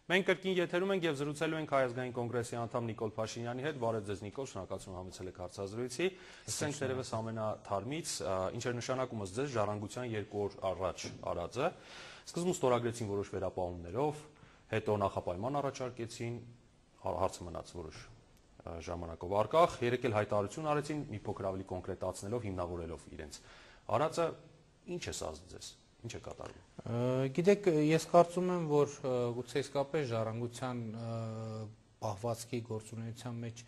Մենք կրկին եթերում ենք եւ զրուցելու ենք Հայ ազգային կոնգրեսի անդամ Նիկոլ Փաշինյանի հետ։ Բարև ձեզ Նիկոլ, շնորհակալություն համեցել եք հարցազրույցի։ Սկսենք դերևս ամենաթարմից, ինչ էր նշանակում ըստ ձեզ ժառանգության 2 օր առաջ արածը։ Սկզբում ստորագրեցին որոշ վերապահումներով, հետո նախապայման առաջարկեցին, հարցը մնաց որոշ ժամանակով առկախ, երեք էլ հայտարարություն արեցին, մի փոքր ավելի կոնկրետացնելով, հիմնավորելով իրենց արածը, ինչ է սա ձեզ։ Ինչ է կատարվում։ Գիտեք, ես կարծում եմ, որ գուցե իսկապես ժառանգության պահվածքի գործունեության մեջ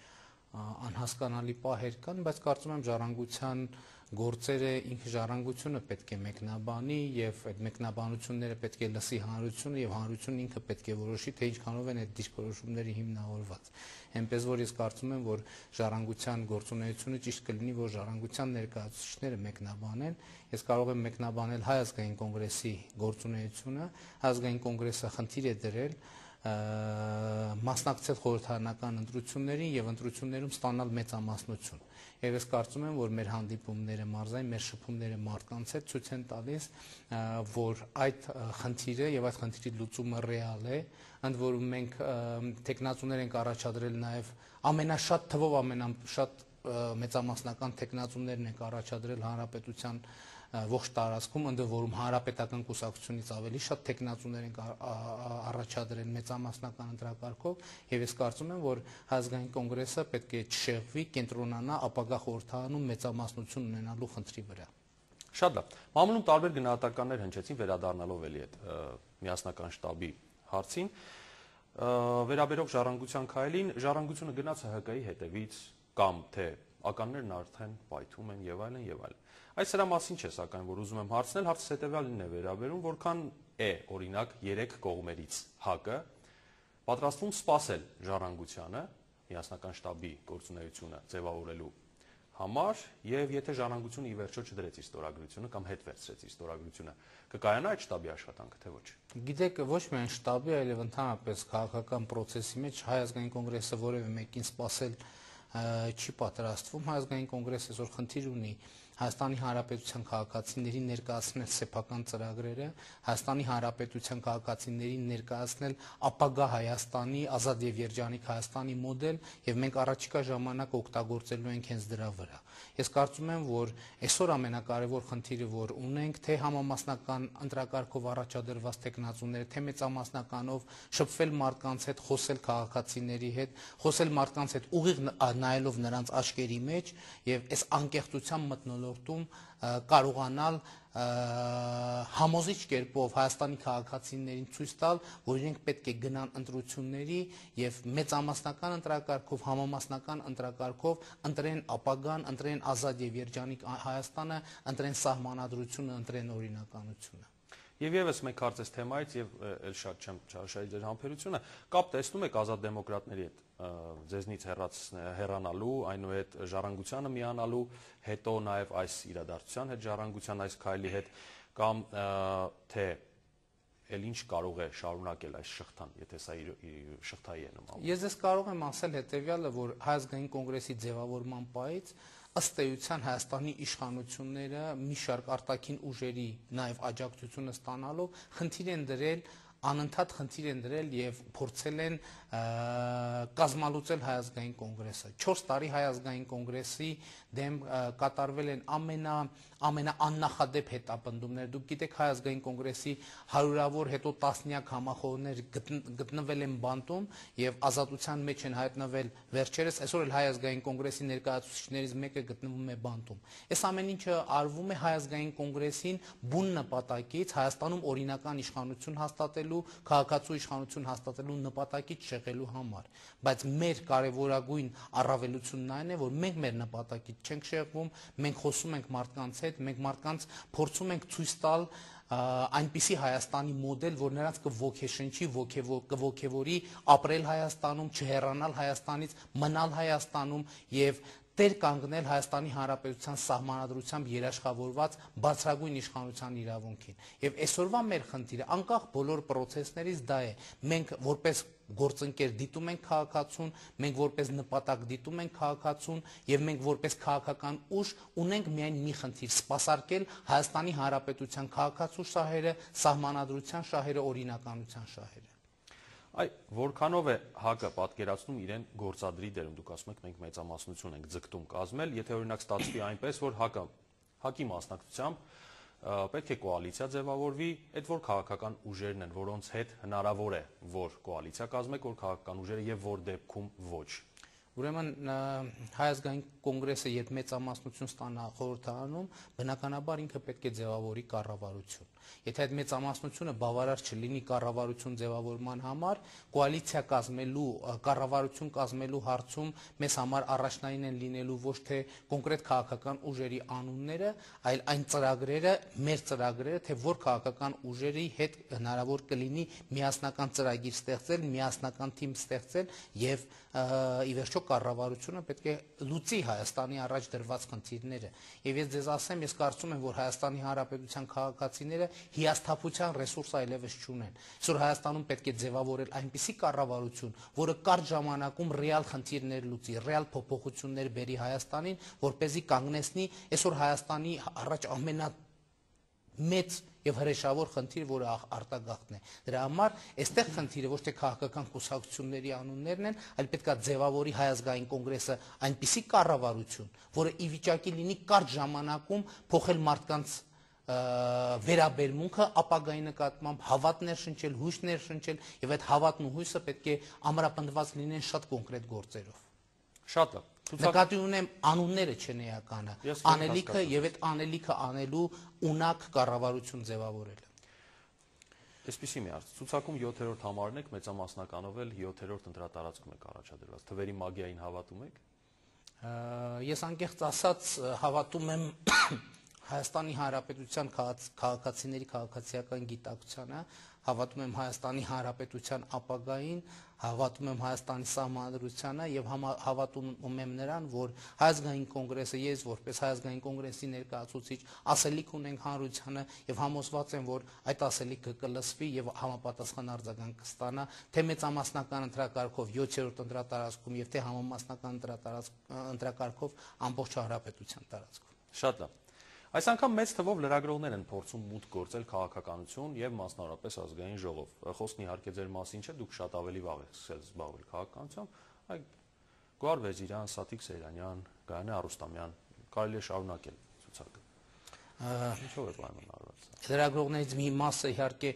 անհասկանալի պահեր կան, բայց կարծում եմ ժառանգության գործերը ինքը ժառանգությունը պետք է մեկնաբանի եւ այդ մեկնաբանությունները պետք է լսի հանրությունը եւ հանրությունն ինքը պետք է որոշի, թե ինչքանով են այդ դիրքորոշումները հիմնավորված։ Այնպես որ ես կարծում եմ, որ ժառանգության գործունեությունը ճիշտ կլինի, որ ժառանգության ներկայացուցիչները մեկնաբանեն։ Ես կարող եմ մեկնաբանել Հայ ազգային կոնգրեսի գործունեությունը, Հայ ազգային կոնգրեսը խնդիր է դրել մասնակցել խորհրդարանական ընտրություններին եւ ընտրություններում ստանալ մեծամասնություն։ Եվ ես կարծում եմ, որ մեր հանդիպումները մարզային, մեր շփումները մարդկանց հետ ցույց են տալիս, որ այդ խնդիրը եւ այդ խնդրի լուծումը ռեալ է, ընդ որում մենք տեխնացուներ ենք առաջադրել նաեւ ամենաշատ թվով ամենաշատ մեծամասնական տեխնացուներն ենք առաջադրել հանրապետության ողջ տարածքում, ընդ որում հանրապետական կուսակցությունից ավելի շատ տեխնացուներ են առաջադրել մեծամասնական ընտրակարգով եւ ես կարծում եմ, որ ազգային կոնգրեսը պետք է չշեղվի, կենտրոնանա ապագա խորհրդարանում մեծամասնություն ունենալու խնդրի վրա։ Շատ լավ։ Մամուլում տարբեր գնահատականներ հնչեցին վերադառնալով էլի այդ միասնական շտաբի հարցին, վերաբերող ժառանգության քայլին, ժառանգությունը գնաց ՀՀԿ-ի հետևից կամ թե ականներն արդեն պայթում են եւ այլն եւ այլն։ Այս սրա մասին չէ, սակայն որ ուզում եմ հարցնել, հարցը հետեւյալին է վերաբերում, որքան է օրինակ 3 կողմերից ՀԱԿ-ը պատրաստվում սպասել ժառանգությանը, միասնական շտաբի գործունեությունը ձևավորելու համար, եւ եթե ժառանգությունը ի վերջո չդրեց իր ստորագրությունը կամ հետ վերցրեց իր ստորագրությունը, կկայանա այդ շտաբի աշխատանքը, թե ոչ։ Գիտեք, ոչ միայն շտաբի, այլև ընդհանրապես քաղաքական process-ի մեջ Հայ ազգային կոնգրեսը որևէ մեկին սպասել չի պատրաստվում։ Հայ ազգային կոնգրեսը այսօր խնդիր ունի Հայաստանի Հանրապետության քաղաքացիներին ներկայացնել սեփական ծրագրերը, Հայաստանի Հանրապետության քաղաքացիներին ներկայացնել ապագա Հայաստանի ազատ եւ երջանիկ Հայաստանի մոդել եւ մենք առաջիկա ժամանակ օգտագործելու ենք հենց դրա վրա։ Ես կարծում եմ, որ այսօր ամենակարևոր խնդիրը, որ ունենք, թե համամասնական ընտրակարգով առաջադրված տեխնացուները, թե մեծամասնականով շփվել մարդկանց հետ, խոսել քաղաքացիների հետ, խոսել մարդկանց հետ ուղիղ նայելով նրանց աչքերի մեջ եւ այս անկեղծության մթնոլորտում կարողանալ համոզիչ կերպով Հայաստանի քաղաքացիներին ցույց տալ, որ իրենք պետք է գնան ընտրությունների եւ մեծամասնական ընտրակարգով, համամասնական ընտրակարգով ընտրեն ապագան, ընտրեն ազատ եւ երջանիկ Հայաստանը, ընտրեն սահմանադրությունը, ընտրեն օրինականությունը։ Եվ եւս մեկ հարց էս թեմայից եւ էլ շատ չեմ չարաշահի ձեր համբերությունը, կապ տեսնում եք ազատ դեմոկրատների հետ ձեզնից հեռանալու, այնուհետ ժառանգությանը միանալու, հետո նաեւ այս իրադարձության հետ ժառանգության այս քայլի հետ կամ թե էլ ինչ կարող է շարունակել այս շղթան, եթե սա շղթայի է նման։ Ես ես կարող եմ ասել հետեւյալը, որ Հայ ազգային կոնգրեսի ձևավորման պահից ըստ էության Հայաստանի իշխանությունները մի շարք արտաքին ուժերի նաև աջակցությունը ստանալով խնդիր են դրել, անընդհատ խնդիր են դրել եւ փորձել են կազմալուծել Հայ ազգային կոնգրեսը։ 4 տարի Հայ ազգային կոնգրեսի դեմ կատարվել են ամենաաննախադեպ հետապնդումներ։ Դուք գիտեք, Հայ ազգային կոնգրեսի հարյուրավոր հետո տասնյակ համախոհներ գտնվել են բանտում եւ ազատության մեջ են հայտնվել վերջերս, այսօր էլ Հայ ազգային կոնգրեսի ներկայացուցիչներից մեկը գտնվում է բանտում։ Այս ամեն ինչը արվում է Հայ ազգային կոնգրեսին բուն նպատակից Հայաստանում օրինական իշխանություն հաստատելու, քաղաքացու իշխանություն հաստատելու նպատակից շեղելու համար, բայց մեր կարևորագույն առավելությունն այն է, որ մենք մեր նպատակից չենք շեղվում, մենք խոսում ենք մարդկանց հետ, մենք մարդկանց փորձում ենք ցույց տալ այնպիսի Հայաստանի մոդել, որ նրանց կոգեշնչի, կոգևորի ապրել Հայաստանում, չհեռանալ Հայաստանից, մնալ Հայաստանում եւ տեր կանգնել Հայաստանի Հանրապետության սահմանադրությամբ երաշխավորված բարձրագույն իշխանության իրավունքին։ Եվ այսօրվա մեր խնդիրը անկախ բոլոր process-ներից դա է։ Մենք որպես գործընկեր դիտում ենք քաղաքացուն, մենք որպես նպատակ դիտում ենք քաղաքացուն եւ մենք որպես քաղաքական ուժ ունենք միայն մի խնդիր՝ սպասարկել Հայաստանի Հանրապետության քաղաքացու շահերը, սահմանադրության շահերը, օրինականության շահերը։ Այ որքանով է ՀԱԿ-ը պատկերացնում իրեն գործադրի դերում, դուք ասում եք մենք մեծամասնություն ենք ձգտում կազմել, եթե օրինակ ստացվի այնպես, որ ՀԱԿ-ի մասնակցությամբ պետք է կոալիցիա ձևավորվի, այդ որ քաղաքական ուժերն են, որոնց հետ հնարավոր է, որ կոալիցիա կազմեք, որ քաղաքական ուժերը եւ որ դեպքում ոչ։ Ուրեմն Հայ ազգային կոնգրեսը երբ մեծամասնություն ստանա խորհրդարանում, բնականաբար ինքը պետք է ձևավորի կառավարություն։ Եթե այդ մեծամասնությունը բավարար չլինի կառավարություն ձևավորման համար, կոալիցիա կազմելու, կառավարություն կազմելու հարցում մեզ համար առաջնային են լինելու ոչ թե կոնկրետ քաղաքական ուժերի անունները, այլ այն ծրագրերը, մեր ծրագրերը, թե որ քաղաքական ուժերի հետ հնարավոր կլինի միասնական ծրագիր ստեղծել, միասնական թիմ ստեղծել եւ ի վերջո կառավարությունը պետք է լուծի Հայաստանի առաջ դրված խնդիրները։ Եվ ես ձեզ ասեմ, ես կարծում եմ, որ Հայաստանի Հանրապետության քաղաքացիները հիասթափության ռեսուրս այլևս չունեն։ Այսօր Հայաստանում պետք է ձևավորել այնպիսի կառավարություն, որը կարճ ժամանակում ռեալ խնդիրներ լուծի, ռեալ փոփոխություններ բերի Հայաստանին, որպեսզի կանգնեցնի այսօր Հայաստանի առաջ ամենամեծ եւ հրեշավոր խնդիր, որը արտագաղթն է։ Դրա համար այստեղ խնդիրը ոչ թե քաղաքական կուսակցությունների անուններն են, այլ պետքա ձևավորի Հայ ազգային կոնգրեսը այնպիսի կառավարություն, որը ի վիճակի լինի կարճ ժամանակում փոխել մարդկանց վերաբերմունքը ապագայի նկատմամբ, հավատներ շնչել, հույսներ շնչել, եւ այդ հավատն ու հույսը պետք է ամրապնդված լինեն շատ կոնկրետ գործերով։ Շատ է։ Նկատի ունեմ անունները չեն էականը, անելիքը եւ այդ անելիքը անելու ունակ կառավարություն ձևավորելը։ Այսպեսի մի հարց, ցուցակում 7-րդ համարն եք, մեծամասնականով էլ 7-րդ ընտրատարածքում եք առաջադրված, թվերի մագիային հավատում եք։ Ես անկեղծ ասած հավատում եմ Հայաստանի Հանրապետության քաղաքացիների քաղաքացիական գիտակցությանը, հավատում եմ Հայաստանի Հանրապետության ապագային, հավատում եմ Հայաստանի սահմանադրությանը եւ հավատում եմ նրան, որ Հայ ազգային կոնգրեսը, ես որպես Հայ ազգային կոնգրեսի ներկայացուցիչ ասելիք ունենք հանրությանը եւ համոզված եմ, որ այդ ասելիքը կլսվի եւ համապատասխան արձագանք կստանա թե մեծամասնական ընտրակարգով 7-րդ ընտրատարածքում եւ թե համամասնական ընտրակարգով ամբողջ հանրապետության տարածքում։ Շատ լավ։ Այս անգամ մեծ թվով լրագրողներ են փորձում մուտք գործել քաղաքականություն եւ մասնավորապես ազգային ժողով։ Խոսքն իհարկե ձեր մասին չէ, դուք շատ ավելի վաղ եք սկսել զբաղվել քաղաքականությամբ, այլ Գոհար Վեզիրյան, Սաթիկ Սեյրանյան, Գայանե Արուստամյան, կարելի է շարունակել ցուցակը։ Ինչով է պայմանավորված։ Լրագրողներից մի մասը իհարկե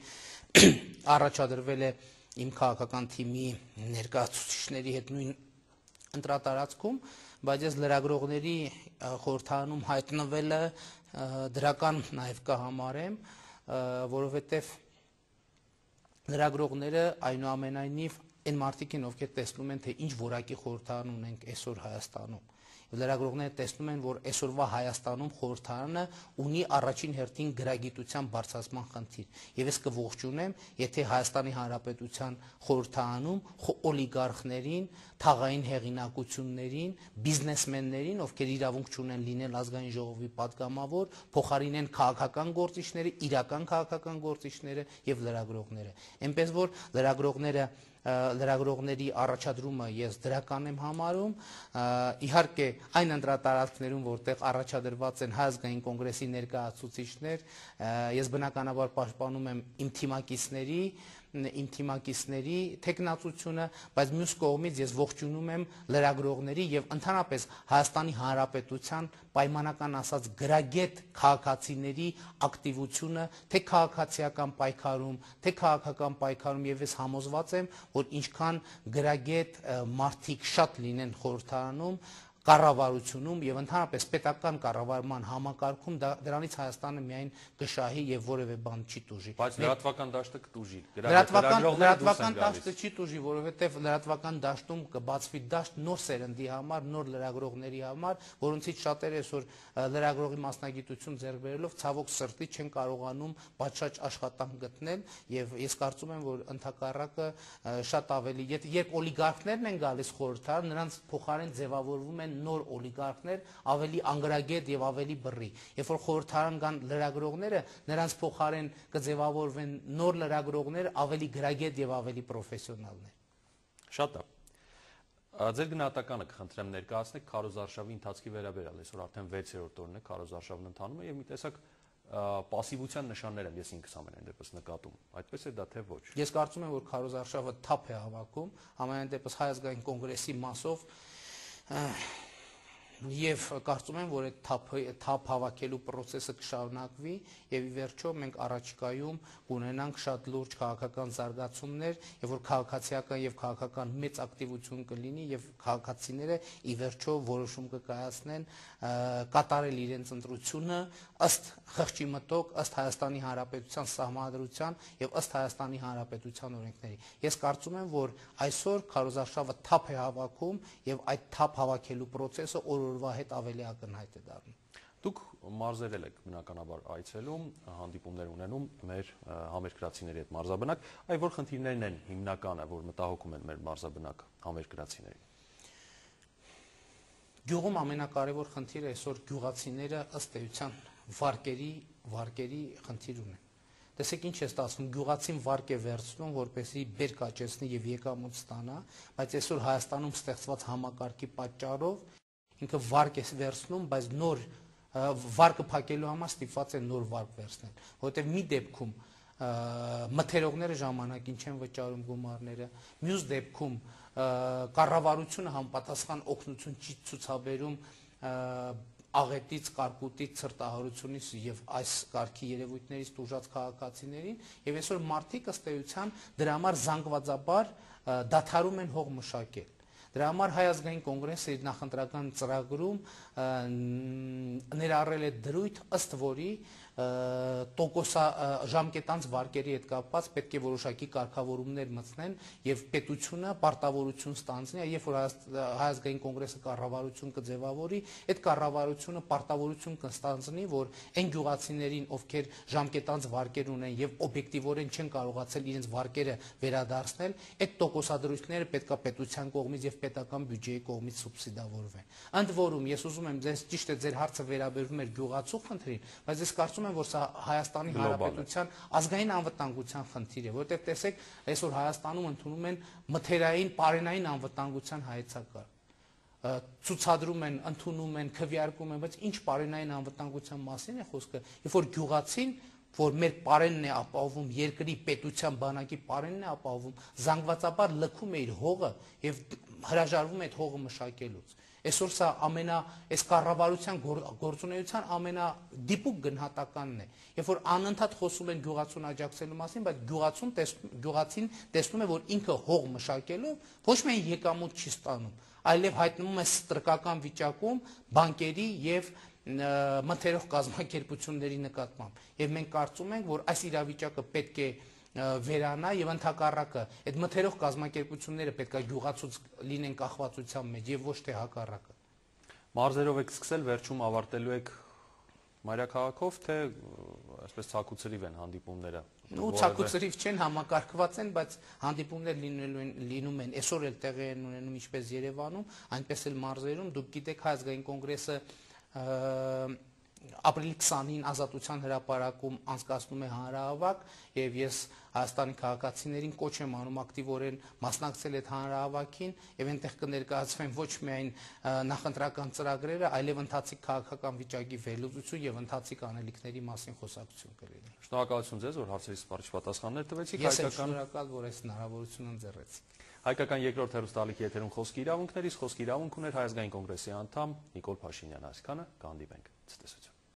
առաջադրվել է իմ քաղաքական թիմի ներկայացուցիչների հետ նույն ընտրատարածքում, բայց ես լրագրողների խորհրդարանում հայտնվելը դրական նաև կհամարեմ, որովհետև լրագրողները այնուամենայնիվ այն մարդիկ են, ովքեր տեսնում են, թե ինչ որակի խորհրդարան ունենք այսօր Հայաստանում։ Լրագրողները տեսնում են, որ այսօրվա Հայաստանում խորհրդարանը ունի առաջին հերթին գրագիտության բարձրացման խնդիր։ Եվ ես կողջունեմ, եթե Հայաստանի Հանրապետության խորհրդարանում օլիգարխներին, թաղային հեղինակություններին, բիզնեսմեններին, ովքեր իրավունք չունեն լինել ազգային ժողովի պատգամավոր, փոխարինեն քաղաքական գործիչները, իրական քաղաքական գործիչները եւ լրագրողները։ Այնպես որ լրագրողների առաջադրումը ես դրական եմ համարում, իհարկե այն ընտրատարածքներում, որտեղ առաջադրված են Հայ ազգային կոնգրեսի ներկայացուցիչներ, ես բնականաբար պաշտպանում եմ իմ թիմակիցների թեկնածությունը, բայց մյուս կողմից ես ողջունում եմ լրագրողների եւ ընդհանրապես Հայաստանի Հանրապետության պայմանական ասած գրագետ քաղաքացիների ակտիվությունը թե քաղաքացիական պայքարում, թե քաղաքական պայքարում եւ ես համոզված եմ, որ ինչքան գրագետ մարդիկ շատ լինեն խորհրդարանում, կառավարությունում եւ ընդհանրապես պետական կառավարման համակարգում դրանից Հայաստանը միայն կշահի եւ որևէ բան չի տուժի։ Բայց լրատվական դաշտը կտուժի։ Լրատվական դաշտը չի տուժի, որովհետեւ լրատվական դաշտում կբացվի դաշտ նոր սերնդի համար, նոր լրագրողների համար, որոնցից շատերը այսօր լրագրողի մասնագիտություն ձեռք բերելով ցավոք սրտի չեն կարողանում պատշաճ աշխատանք գտնել եւ ես կարծում եմ, որ ընդհակառակը շատ ավելի, երբ օլիգարխներն են գալիս խորհրդարան, նրանց փոխարեն ձևավորվում են նոր օլիգարխներ, ավելի անգրագետ եւ ավելի բռի։ Երբ որ խորհրդարան կան լրագրողները, նրանց փոխարեն կձևավորվեն նոր լրագրողներ, ավելի գրագետ եւ ավելի պրոֆեսիոնալներ։ Շատ է։ Ձեր գնահատականը կխնդրեմ ներկայացնեք քարոզարշավի ընթացքի վերաբերյալ։ Այսօր արդեն 6-րդ օրն է քարոզարշավն ընթանում է եւ մի տեսակ պասիվության նշաններ եմ ես ինքս ամենայն դեպս նկատում։ Այդպես է դա թե ոչ։ Ես կարծում եմ, որ քարոզարշավը թափ է հավաքում, ամենայն դեպս Հայ ազգային կոնգրեսի մասով եւ կարծում եմ, որ այդ թափ հավաքելու process-ը կշարունակվի եւ ի վերջո մենք առաջիկայում կունենանք շատ լուրջ քաղաքական զարգացումներ եւ որ քաղաքացիական եւ քաղաքական մեծ ակտիվություն կլինի եւ քաղաքացիները ի վերջո որոշում կկայացնեն կատարել իրենց ընտրությունը ըստ խղճի մտոք, ըստ Հայաստանի Հանրապետության սահմանադրության եւ ըստ Հայաստանի Հանրապետության օրենքների։ Ես կարծում եմ, որ այսօր քարոզարշավը թափ է հավաքում եւ այդ թափ հավաքելու process-ը օրվա հետ ավելի ակնհայտ է դառնում։ Դուք մարզերել եք բնականաբար այցելում, հանդիպումներ ունենում մեր համերկրացիների հետ մարզաբնակ, այ որ խնդիրներն են հիմնականը, որ մտահոգում են մեր մարզաբնակ համերկրացիներին։ Գյուղում ամենակարևոր խնդիրը այսօր գյուղացիները ըստ էության վարկերի խնդիր ունեն։ Տեսեք ինչ է ստացվում, գյուղացին վարկ է վերցնում, որպեսզի բերք աճեցնի եւ եկամուտ ստանա, բայց այսօր Հայաստանում ստեղծված համակարգի պատճառով ինքը վարկ է վերցնում, բայց նոր վարկը փակելու համար ստիպված է նոր վարկ վերցնել, որովհետեւ մի դեպքում մթերողները ժամանակին չեն վճարում գումարները, մյուս դեպքում կառավարությունը համապատասխան օգնություն չի ցուցաբերում աղետից, կարկուտից, ցրտահարությունից եւ այս կարգի երևույթներից տուժած քաղաքացիներին եւ այսօր մարդիկ ըստ էության դրա համար զանգվածաբար դադարում են հող մշակել։ Դրա համար Հայ ազգային կոնգրեսը իր նախընտրական ծրագրում ներառել է դրույթ, ըստ որի ժամկետանց վարկերի հետ կապված պետք է որոշակի կարգավորումներ մտցնեն եւ պետությունը պարտավորություն ստանձնի, երբ որ Հայ ազգային կոնգրեսը կառավարություն կձևավորի, այդ կառավարությունը պարտավորություն կստանձնի, որ այն գյուղացիներին, ովքեր ժամկետանց վարկեր ունեն եւ օբյեկտիվորեն չեն կարողացել իրենց վարկերը վերադարձնել, այդ տոկոսադրույթները պետքա պետության կողմից եւ պետական բյուջեի կողմից սուբսիդավորվեն։ Ընդ որում ես ուզում եմ ձեզ ճիշտ է ձեր հարցը վերաբերում էր գյուղացու խնդրին, բայց ես կարծում եմ, որ սա Հայաստանի Հանրապետության ազգային անվտանգության խնդիր է, որովհետեւ տեսեք, այսօր Հայաստանում ընդունում են մթերային, պարենային անվտանգության հայեցակարգ։ Ցուցադրում են, ընդունում են, քվեարկում են, բայց ինչ պարենային անվտանգության մասին է խոսքը, երբ որ գյուղացին, որ մեր պարենն է ապահովում, երկրի պետության բանակի պարենն է ապահովում, զանգվածաբար լքում է իր հողը եւ հրաժարվում է այդ հողը մշակելուց։ Այսօր սա այս կառավարության գործունեության ամենադիպուկ գնահատականն է, երբ որ անընդհատ խոսում են գյուղացուն աջակցելու մասին, բայց գյուղացին տեսնում է, որ ինքը հող մշակելով ոչ միայն եկամուտ չի ստանում, այլև հայտնվում է ստրկական վիճակում բանկերի եւ մթերող կազմակերպությունների նկատմամբ։ Եվ մենք կարծում ենք, որ այս իրավիճակը պետք է վերանա եւ ընդհակառակը այդ մթերող կազմակերպությունները պետք է գյուղացուց լինեն կախվածության մեջ եւ ոչ թե հակառակը։ Մարզերով եք սկսել, վերջում ավարտելու եք մայրաքաղաքով, թե այսպես ցակուցրիվ են հանդիպումները։ Ու ցակուցրիվ չեն, համակարգված են, բայց հանդիպումներ լինում են, այսօր էլ տեղի են ունենում ինչպես Երևանում, այնպես էլ մարզերում։ Դուք գիտեք, Հայ ազգային կոնգրեսը ապրիլի 20-ին Ազատության հրապարակում անցկացնում է հանրահավաք եւ ես Հայաստանի քաղաքացիներին կոչ եմ անում ակտիվորեն մասնակցել այդ հանրահավաքին եւ այնտեղ կներկայացվեն ոչ միայն նախընտրական ծրագրերը, այլև ընթացիկ քաղաքական վիճակի վերլուծություն եւ ընթացիկ անելիքների մասին խոսակցություն կլինի։ Շնորհակալություն ձեզ, որ հարցերիս պատասխաններ տվեցիք։ Ես եմ շնորհակալ, որ այս հնարավորությունը ընձեռեցիք։ Հայկական երկրորդ հեռուստաալիքի եթերում խոսքի իրավունքներից խոսքի իրավունք ուներ Հայ ազգային կոնգրեսի անդամ Նիկոլ Փաշինյանը։ Այսքանը կհանդիպենք։ Ցտեսություն։